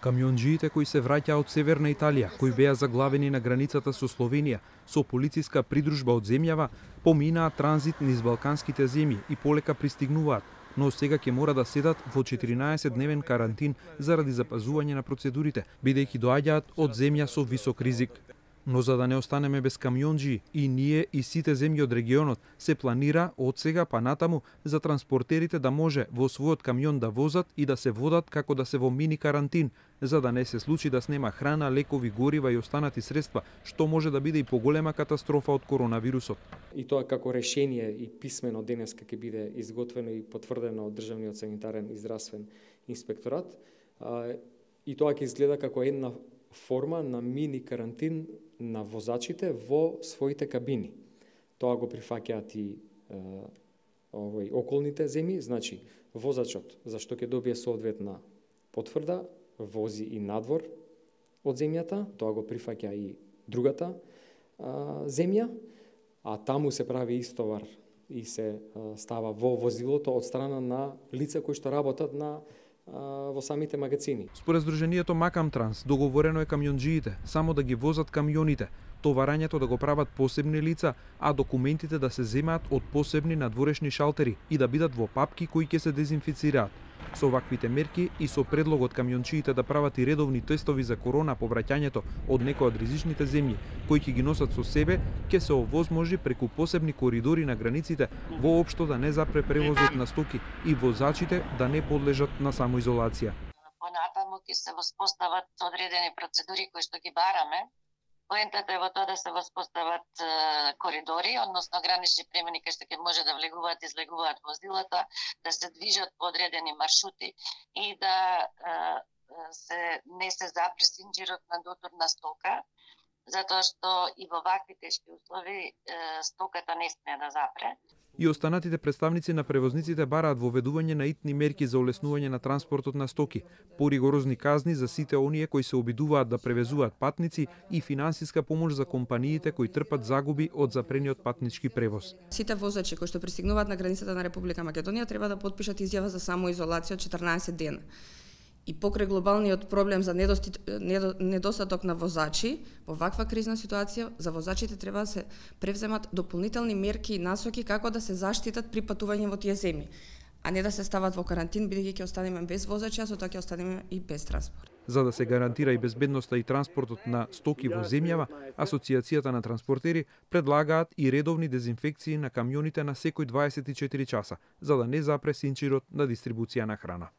Камионџиите кои се враќаа од Северна Италија, кои беа заглавени на границата со Словенија, со полициска придружба од земјава, поминаа транзит низ балканските земји и полека пристигнуваат, но сега ќе мора да седат во 14-дневен карантин заради запазување на процедурите, бидејќи доаѓаат од земја со висок ризик. Но за да не останеме без камионџии, и ние и сите земји од регионот, се планира од сега па натаму за транспортерите да може во својот камион да возат и да се водат како да се во мини карантин, за да не се случи да снема храна, лекови, горива и останати средства, што може да биде и поголема катастрофа од коронавирусот. И тоа како решение и писмено денеска ќе биде изготвено и потврдено од Државниот санитарен и здравствен инспекторат. И тоа ќе изгледа како една форма на мини карантин на возачите во своите кабини. Тоа го прифаќаат и околните земји, значи возачот зашто ќе добие соодветна потврда, вози и надвор од земјата, тоа го прифаќа и другата земја, а таму се прави истовар и се става во возилото од страна на лица кои што работат во самите магазини. Според Сдруженијето Макам Транс, договорено е камионџиите само да ги возат камионите, товарањето да го прават посебни лица, а документите да се земаат од посебни надворешни шалтери и да бидат во папки кои ќе се дезинфицираат. Со ваквите мерки и со предлогот камиончиите да прават и редовни тестови за корона по враќањето од некои од ризичните земји, кои ќе ги носат со себе, ќе се овозможи преку посебни коридори на границите воопшто да не запре превозот на стоки и возачите да не подлежат на самоизолација. Понатаму ќе се воспостават одредени процедури кои што ги бараме. Поентата е во тоа да се воспостават коридори, односно гранични премини кај што ќе може да влегуваат и излегуваат возилата, да се движат по одредени маршрути и да не се запре синџирот на дотур на стока, затоа што и во вакви тешки услови стоката не смее да запре. И останатите представници на превозниците бараат воведување на итни мерки за олеснување на транспортот на стоки, поригорозни казни за сите оние кои се обидуваат да превезуваат патници и финансиска помош за компаниите кои трпат загуби од запрениот патнички превоз. Сите возачи кои што пристигнуваат на границата на Република Македонија треба да потпишат изјава за самоизолација од 14 дена. И покрај глобалниот проблем за недостаток на возачи, во ваква кризна ситуација за возачите треба да се превземат дополнителни мерки и насоки како да се заштитат при патување во тие земји, а не да се стават во карантин, бидејќи ќе останеме без возачи, а со тоа ќе останеме и без транспорт. За да се гарантира и безбедноста и транспортот на стоки во земјава, Асоциацијата на транспортери предлагаат и редовни дезинфекции на камионите на секој 24 часа, за да не запре синџирот на дистрибуција на храна.